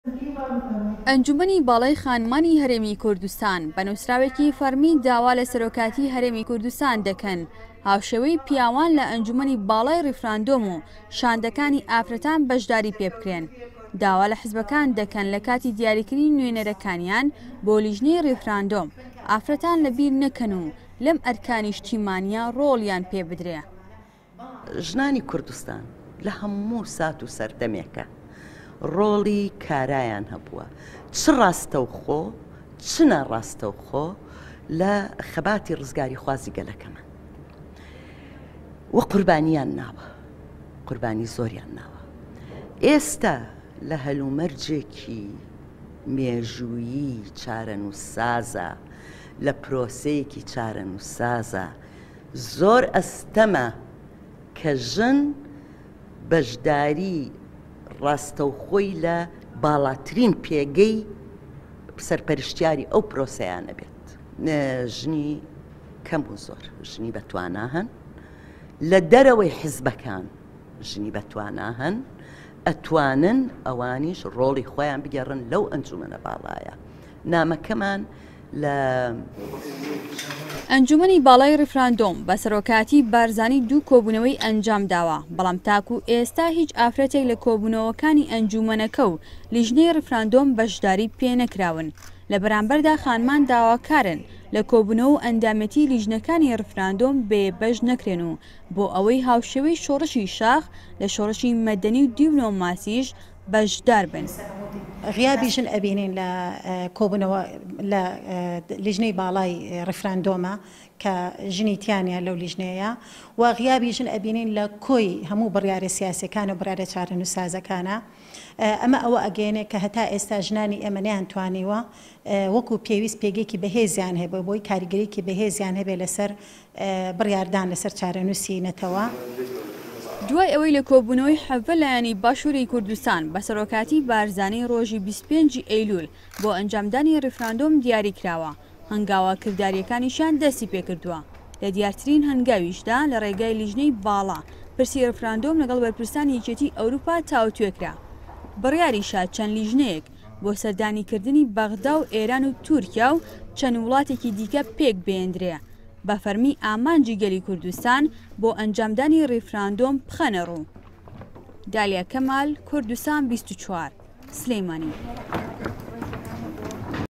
ئەنجومەنی باڵای خانمانی هەرێمی کوردستان بە نووسراوێکی فەڕمی داوا لە سەرۆکاتی هەرێمی کوردستان دەکەن هاوشێوەی پیاوان لە ئەنجومەنی باڵای ڕیفراندۆم و شاندەکانی ئافرەتان بەشداری پێبکرێن داوا لە حزبەکان دەکەن لە کاتی دیاریکردنی نوێنەرەکانیان بۆ لیژنەی ڕیفراندۆم ئافرەتان لەبیر نەکەن و لەم ئەرکە نیشتیمانیە ڕۆڵیان پێبدرێ. ژنانی کوردستان لە هەموو سات و سەردەمێکا ڕۆڵی کارایان هەبووە، چ ڕاستەوخۆ چ ناڕاستەوخۆ لە خەباتی ڕزگاریخوازی گەلەکەمان و قوربانیان ناوە، قوربانی زۆریان ناوە. ئێستا لە هەلومەرجێکی مێژوویی چارەنووسسازە، لە پرۆسەیەکی چارەنووسسازە، زۆر ئەستەمە کە ژن بەشداری ڕاستەوخۆی لە باڵاترین پێگەی سەرپەرشتیاری ئەو پرۆسەیانە بێت. ژنی کەم و زۆر ژنی بەتوانا هەن، لە دەرەوەی حزبەکان ژنی بەتوانا هەن، ئەتوانن ئەوانیش ڕۆڵی خۆیان بگێڕن لەو ئەنجومەنە باڵایە. نامەکەمان لە. ئەنجومەنی باڵای ڕیفراندۆم بە سەرۆکایەتی بارزانی دوو کۆبوونەوەی ئەنجامداوە، بەڵام تاکو ئێستا هیچ ئافرەتێک لە کۆبوونەوەکانی ئەنجومەنەکە و لیژنەی ڕیفراندۆم بەشداری پێنەکراون، لە بەرامبەردا خانمان داواکارن لە کۆبوونەوە و ئەندامێتی لیژنەکانی ڕیفراندۆم بێ بەش نەکرێن و بۆ ئەوەی هاوشێوەی شۆڕشی شاخ لە شۆڕشی مەدەنی و دیبلۆماسیش بەشدار بن. غیابی ژن ئەبینین لە کۆبوونەوە لە لیژنەی باڵای ڕیفراندۆمە کە ژنی تیا نیە لەو لیژنەیە و غیابی ژن ئەبینین لە کۆی هەموو بڕیارە سیاسیەکان و بڕیارە چارەنووسسازەکانە. ئەمە ئەوە ئەگەیەنێ کە هەتا ئێستا ژنانی ئێمە نەیانتوانیوە وەکو پێویست پێگەیەکی بەهێزیان هەبێ بۆی کاریگەریەکی بەهێزیان هەبێ لەسەر بڕیاردان لەسەر چارەنووسی نەتەوە. دوای ئەوەی لە کۆبوونەوەی 17 لایەنی باشووری کوردستان بە سەرۆکایەتی بارزانی ڕۆژی 25 ی ئەیلوول بۆ ئەنجامدانی ڕیفراندۆم دیاری کراوە، هەنگاوە کردارییەکانیشیان دەستی پێکردووە، لە دیارترین هەنگاویشدا لە ڕێگای لیژنەی باڵا پرسی ڕیفراندۆم لەگەڵ بەرپرسانی یەکێتی ئەوروپا تاوتوێ کرا. بڕیاریشە چەند لیژنەیەک بۆ سەردانیکردنی بەغدا و ئێران و تورکیا و چەند وڵاتێکی دیکە پێکبهێندرێ. بە فەرمی ئامانجی گەلی کوردستان بۆ ئەنجامدانی ڕیفراندۆم بخەنە ڕوو. دالیا کەمال، کوردستان 24، سلێمانی.